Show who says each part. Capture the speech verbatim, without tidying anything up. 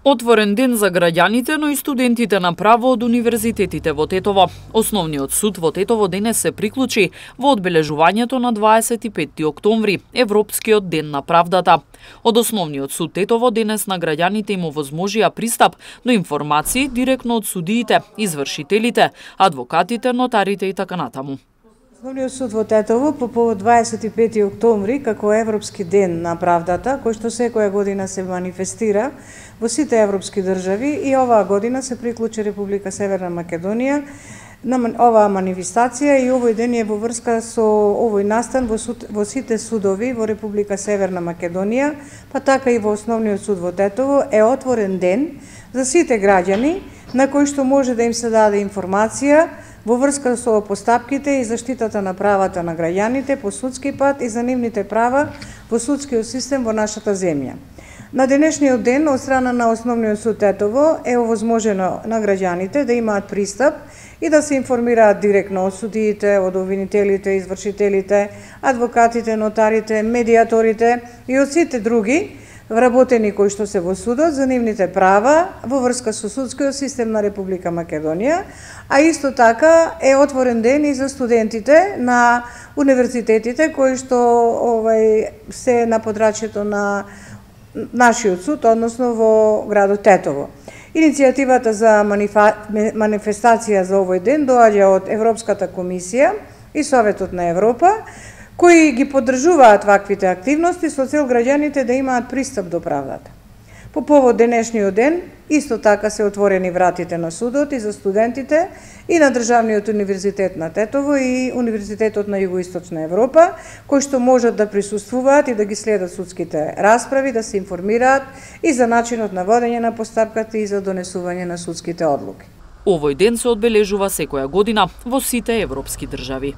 Speaker 1: Отворен ден за граѓаните, но и студентите на право од универзитетите во Тетово. Основниот суд во Тетово денес се приклучи во одбележувањето на дваесет и петти октомври, Европскиот ден на правдата. Од Основниот суд Тетово денес на граѓаните им овозможија пристап до информации директно од судиите, извршителите, адвокатите, нотарите и така натаму.
Speaker 2: Основниот суд во Тетово по повод дваесет и петти октомври како Европски ден на правдата, кој што секоја година се манифестира во сите европски држави, и оваа година се приклучи Република Северна Македонија на оваа манифестација, и овој ден е во врска со овој настан во, суд, во сите судови во Република Северна Македонија, па така и во Основниот суд во Тетово е отворен ден за сите граѓани на кои што може да им се даде информација во врска со постапките и заштитата на правата на граѓаните по судски пат и за нивните права во судскиот систем во нашата земја. На денешниот ден од страна на Основниот суд Тетово е овозможено на граѓаните да имаат пристап и да се информираат директно од судиите, од обвинителите, извршителите, адвокатите, нотарите, медиаторите и од сите други вработени кои што се во судот за нивните права во врска со судскиот систем на Република Македонија, а исто така е отворен ден и за студентите на универзитетите кои што овај се на подрачјето на нашиот суд, односно во градот Тетово. Иницијативата за манифестација за овој ден доаѓа од Европската комисија и Советот на Европа, кои ги поддржуваат ваквите активности со цел граѓаните да имаат пристап до правдата. По повод денешниот ден, исто така се отворени вратите на судот и за студентите и на Државниот универзитет на Тетово и Универзитетот на Југоисточна Европа, кои што можат да присуствуваат и да ги следат судските расправи, да се информираат и за начинот на водење на постапката и за донесување на судските одлуки.
Speaker 1: Овој ден се одбележува секоја година во сите европски држави.